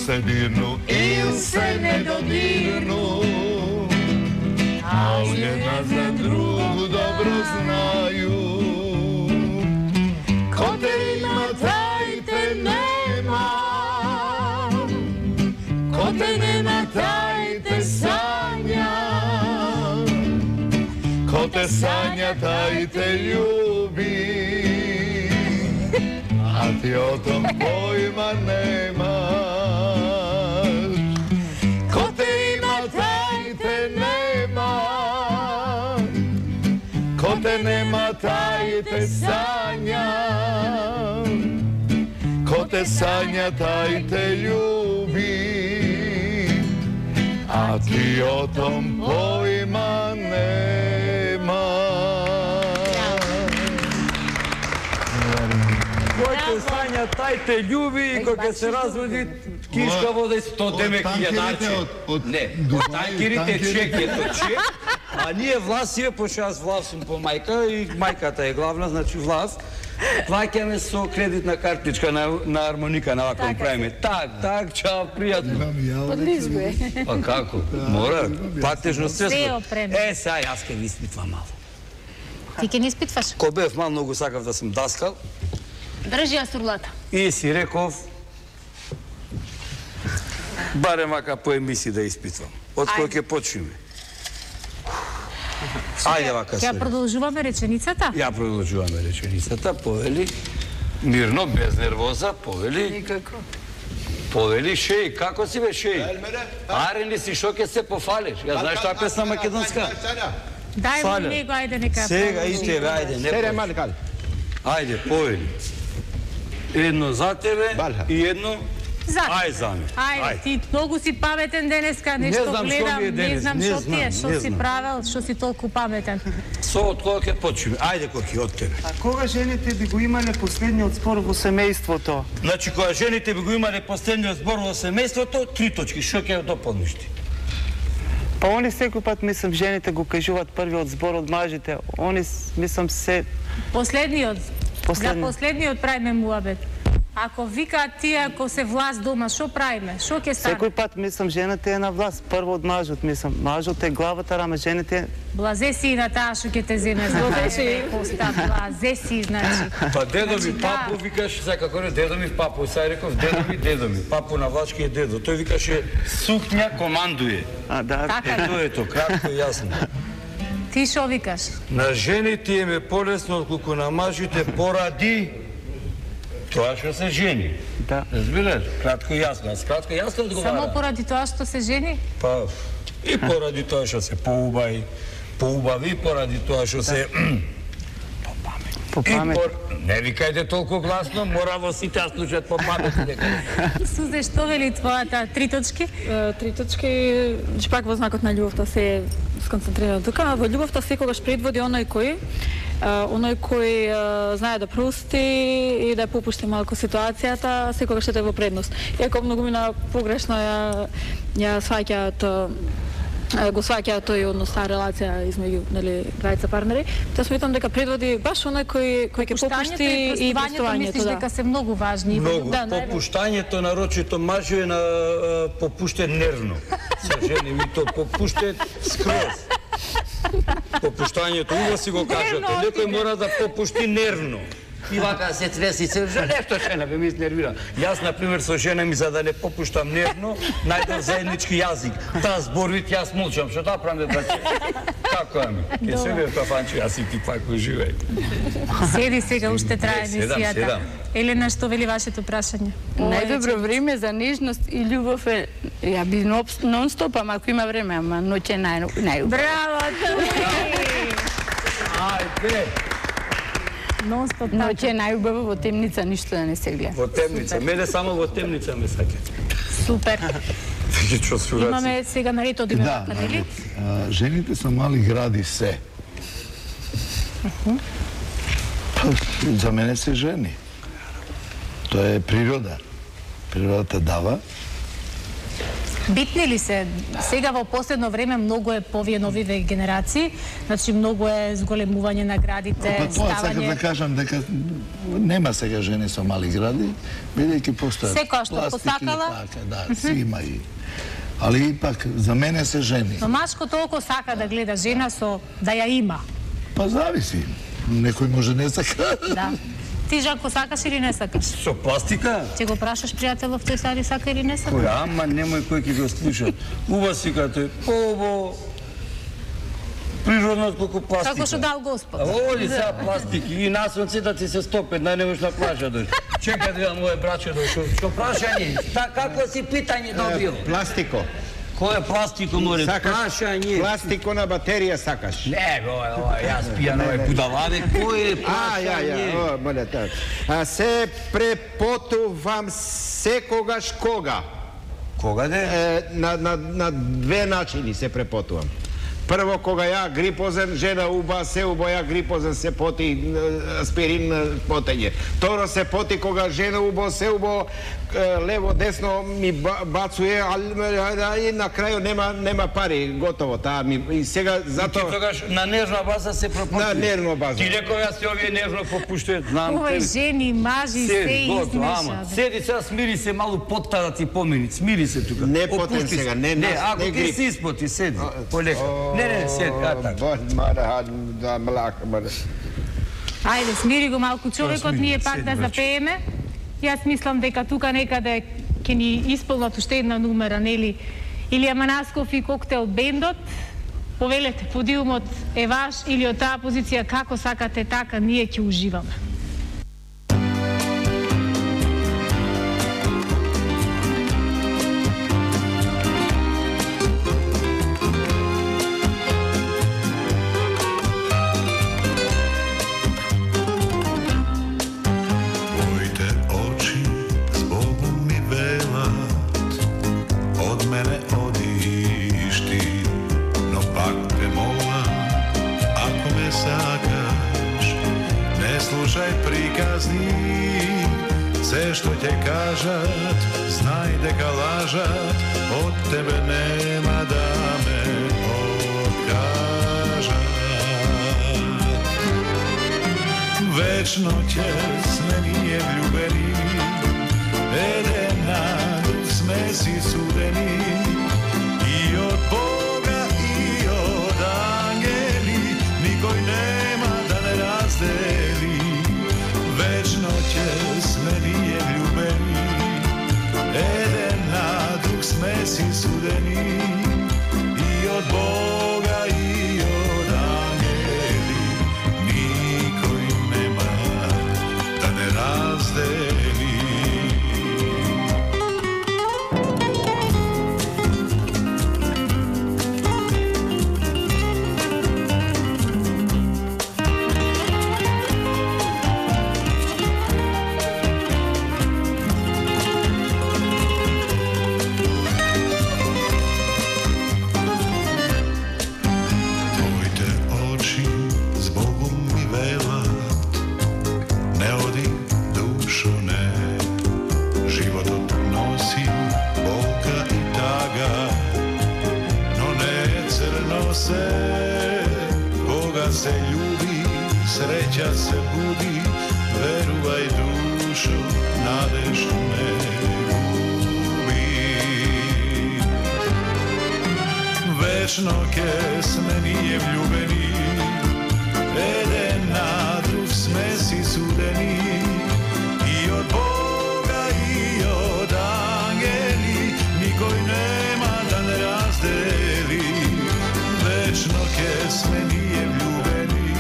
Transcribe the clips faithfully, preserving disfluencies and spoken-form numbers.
се дирну или се не додирну, ali jedna za drugu dobro znaju. Ko te ima, taj te nema, ko te nema, taj te sanja, ko te sanja, taj te ljubi, a ti o tom pojma nemaš. Ko te ima, taj te nema, ko te nema, taj te sanja, ko te sanja, taj te ljubi, a ti o tom pojma nemaš. Кој те сања, тај те љуби и кога се разводи кишка вода и сто демек јаначе. Не, од танкерите чекето чек, а ние власие, пошто јас влав сум по мајка и мајката е главна, значи влав, плаќаме со кредитна картичка на, на армоника, на вако правиме. Так, так, чао, пријатно. Одлично е. Па како? Мора, платежно Се средство. опреми. Е, сега јас ке ви испитвам мало. Ти ке не испитваш? Ко бев мал, многу сакав да сум даскал. Држи ја сурлата. И си реков, барем вака по емисии да испитвам. Од кој ќе почнеме? Ајде вака се. Ќе продолжуваме реченицата? Ја продолжуваме реченицата, повели. Мирно, без нервоза, повели. Никако. Повели, шеј, како си бе шеј? Аре ли си, шо ќе се пофалиш? Ја знаеш таа песна македонска? Дај му него, ајде нека. Сега и тебе, ајде, не Сере, Ајде, повели. Едно за тебе и едно За. ај за ме. Ајде, ти многу си паметен денеска, нешто знам што гледам, ми е не денес, знам не што ти е, знам, што не си знам. правел, што си толку паметен. Со од кога ќе почнеме? Ајде, Коки, од тебе. А кога жените би го имале последниот спор во семејството? Значи, кога жените би го имале последниот збор во семејството, три точки, што ќе дополниш ти? Па они секој пат, мислам, жените го кажуваат првиот збор од мажите. Они, мислам, се... Последниот. Последни. За последниот правиме муабет. Ако викаат тие, ако се власт дома, што правиме? Што ќе стане? Секој пат, мислам, жената е на власт. Прво од мажот, мислам. Мажот е главата, рама жените... Блазе си на таа што ќе те земе. Злодеше поста, блазе си, значи. Па дедо ми, Значи, папу, да. викаш, сега како не, дедо ми, папу, сега реков, дедо ми, дедо ми, папу на влачки е дедо. Тој викаше, сукња командуе. А, да. Така Е, е. тоа е то, кратко и јасно. Ти што викаш? На жените им е полесно отколку на мажите поради тоа што се жени. Да. Разбираш? Кратко и јасно. Аз кратко и јасно одговарам. Само поради тоа што се жени? Па, и поради тоа што се поубави, поубави, поради тоа што се... По И памет. пор... Не викајте толку гласно, мора во сите да слушаат по памет. Сузе, што вели твојата три точки? Е, Три точки, че пак во знакот на љубовта се е сконцентрирано тука. Во љубовта секогаш предводи оној кој, е, оној кој е, знае да прости и да ја попушти малку ситуацијата, секогаш е во предност. Иако многу мина погрешно ја, ја сваќаат е, го сваќаат тој однос, таа релација измеѓу, нели, двајца партнери, тоа сметам дека предводи баш оној кој кој ќе попушти и простувањето, мислиш да. дека се многу важни. Многу. Да, најве- Попуштањето, нарочито мажу е на е, попуштен нервно. Со жени ми то попуштен скроз. Попуштањето, убаво си го кажете. Некој мора да попушти нервно. И вака се треси се, нешто жена бе ми изнервира. Јас, например, со жена ми, за да не попуштам нервно, најдов заеднички јазик. Таа зборвит, јас молчам, што таа правам браќе? Како ами? Ке се бе кафанче, јас и ти пак уживај. Седи сега, уште трае седам, емисијата. седам. Елена, што вели вашето прашање? Најдобро време за нежност и љубов е, ја би нон-стоп, ама ако има време, ама ноќе е нај, најубаво. Браво, Тули! Ајде! Нон-стоп така. Ноќе е најубаво, во темница ништо да не се гледа. Во темница. Мене само во темница ме саќа. Супер. Виќе што сураци. Имаме сега на ред одиме Да, вака, нели? а, жените со мали гради се. Па, за мене се жени. Тоа е природа. Природата дава. Битни ли се? Сега во последно време многу е повие новиве генерации, значи многу е зголемување на градите, па, тоа ставање... сакам да кажам дека нема сега жени со мали гради, бидејќи постојат секоја што посакала, така, да, си има и... Али ипак, за мене се жени. Но машко толку сака да гледа жена со да ја има. Па зависи. Некој може не сака. Да. Ти, Жако, сакаш или не сакаш? Со пластика? Ќе го прашаш пријателов тој сади сака или не сака? Кој, ама немој кој ќе го слуша. Уба си кате, по-обо природно колку пластика. Како што дал Господ. Оди сега пластики и на сонце да ти се стопе, да не можеш на плажа дојдеш. Чекај да видам моје браче дојшо. Што прашање? Та какво си питање добил? Пластико. Кој е пластико, море? Прашање. Пластико на батерија сакаш? Не, ова, ова, јас пијан овој будалаве. Кој е прашање? А, ја, ја, о, моля, така. А се препотувам секогаш кога? Кога де? На, на, на две начини се препотувам. Прво, кога ја грипозен, жена уба, се убо ја грипозен, се поти аспирин потење. Второ, се поти кога жена убо, се убо, лево, десно ми бацуе, а и на крају нема нема пари, готово, таа ми и сега затоа... Ти тогаш на нежна база се пропушти. На нежна база. Ти реков јас се овие нежно пропуштујат, знам. Овој жени, мажи, се измеша. Седи сега, смири се малу потта да ти помени, смири се тука. Не потен сега, не не, ако ти си испоти, седи, полека. Не, не, седи, а така. Мара, да, млака, мара. Ајде, смири го малку човекот, ние пак да запееме. Јас мислам дека тука некаде ќе ни исполнат уште една номера, нели? Илија Манасков и Коктел бендот. Повелете, подиумот е ваш или од таа позиција како сакате така, ние ќе уживаме. Се што ќе кажат, знај дека лажат, од тебе нема да ме откажат. Вечно ќе сме ние влюбени, еден на друг сме си судени, и од Бога и од ангели, никој нема да не раздели. Вечно ќе сме ние влюбени, еден на друг сме си судени, и од Бога и од ангели, никој нема да не раздели. Se ljubi, sreća se budi, veruvaj dušo, nadeš ne gubi. Večno ke sme nije vljubeni, eden na drug sme si sudeni, i od Boga i od angeli, nikoj nema da ne razdeli. Večno ke sme nije vljubeni,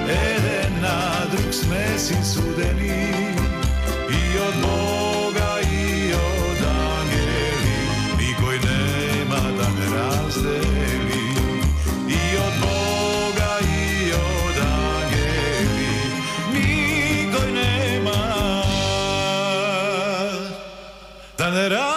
eden na drug sme si sudeni, i od Boga i od angeli, nikoj nema da ne razdeli. I od Boga i od angeli, nikoj nema da ne razdeli.